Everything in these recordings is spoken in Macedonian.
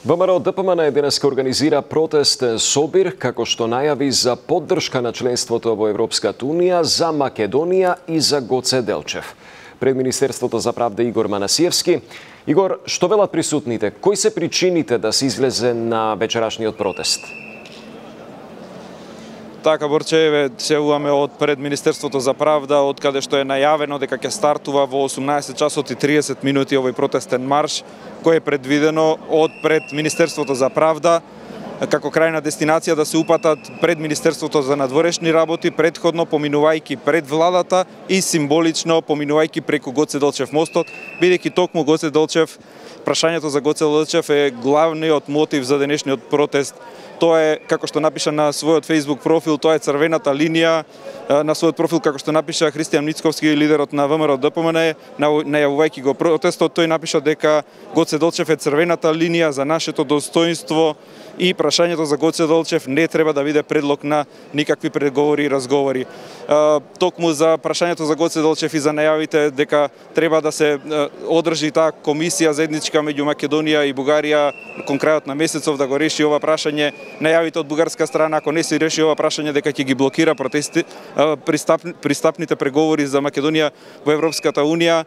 ВМРО ДПМН денеска организира протест собир како што најави за поддршка на членството во Европската Унија за Македонија и за Гоце Делчев. Пред Министерството за правда Игор Манасиевски. Игор, што велат присутните? Кои се причините да се излезе на вечерашниот протест? Така, Борче, се јавуваме од пред Министерството за правда, од каде што е најавено дека ќе стартува во 18 часот и 30 минути овој протестен марш, кој е предвидено од пред Министерството за правда, како крајна дестинација да се упатат пред Министерството за надворешни работи, предходно поминувајќи пред владата и символично поминувајќи преку Гоце Делчев мостот, бидејќи токму Гоце Делчев, прашањето за Гоце Делчев е главниот мотив за денешниот протест. Тоа е, како што напиша на својот Facebook профил, тоа е црвената линија. На својот профил, како што напиша Христијан Мицковски, лидерот на ВМРО ДПМН, најавувајќи го протестот, тој напиша дека Гоце Делчев е црвената линија за нашето достоинство и прашањето за Гоце Делчев не треба да биде предлог на никакви преговори и разговори. Токму за прашањето за Гоце Делчев и за најавите дека треба да се одржи таа комисија заедничка меѓу Македонија и Бугарија кон крајот на месецов да го реши ова прашање. Најавите од бугарска страна, ако не се реши ова прашање, дека ќе ги блокира пристапните преговори за Македонија во Европската Унија.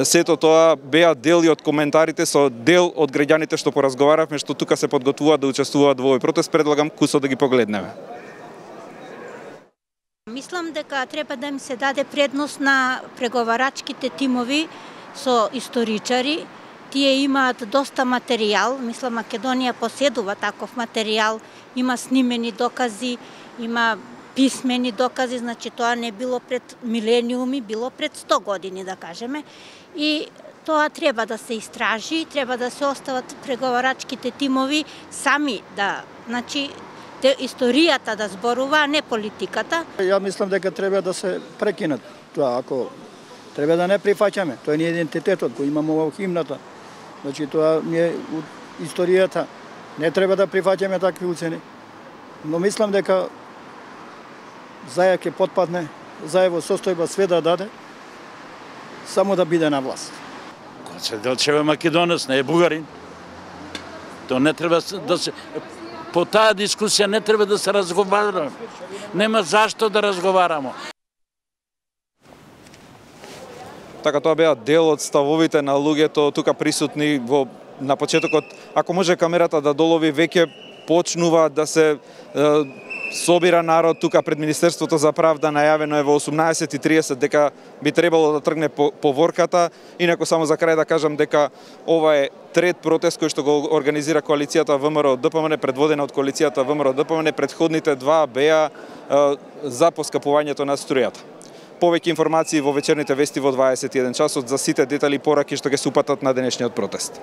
Сето тоа беа дел и од коментарите со дел од граѓаните што поразговаравме, што тука се подготвуваат да учествуваат во овој протест. Предлагам кусо да ги погледнеме. Мислам дека треба да им се даде предност на преговарачките тимови со историчари. Тие имаат доста материјал, мислам Македонија поседува таков материјал, има снимени докази, има писмени докази, значи тоа не било пред милениуми, било пред 100 години, да кажеме. И тоа треба да се истражи, треба да се остават преговарачките тимови сами да, значи, историјата да зборува, а не политиката. Ја мислам дека треба да се прекинат тоа, ако треба да не прифаќаме. Тоа не е идентитетот кој имаме во химната. Значи тоа не е историјата. Не треба да прифаќаме такви уцени. Но мислам дека Заја ќе потпадне, Заја во состојба све да даде, само да биде на власт. Гоце Делчев е македонец, не е бугарин. То не треба да се... По таа дискусија не треба да се разговараме. Нема зашто да разговараме. Така, тоа беа дел од ставовите на луѓето тука присутни на почетокот. Ако може камерата да долови, веќе почнува да се собира народ тука пред Министерството за правда. Најавено е во 18:30 дека би требало да тргне поворката. Инаку само за крај да кажам дека ова е трет протест кој што го организира коалицијата ВМРО ДПМН, предводена од коалицијата ВМРО ДПМН. Предходните два беа за поскапувањето на струјата. Повеќе информации во вечерните вести во 21 часот за сите детали и пораки што ќе се упатат на денешниот протест.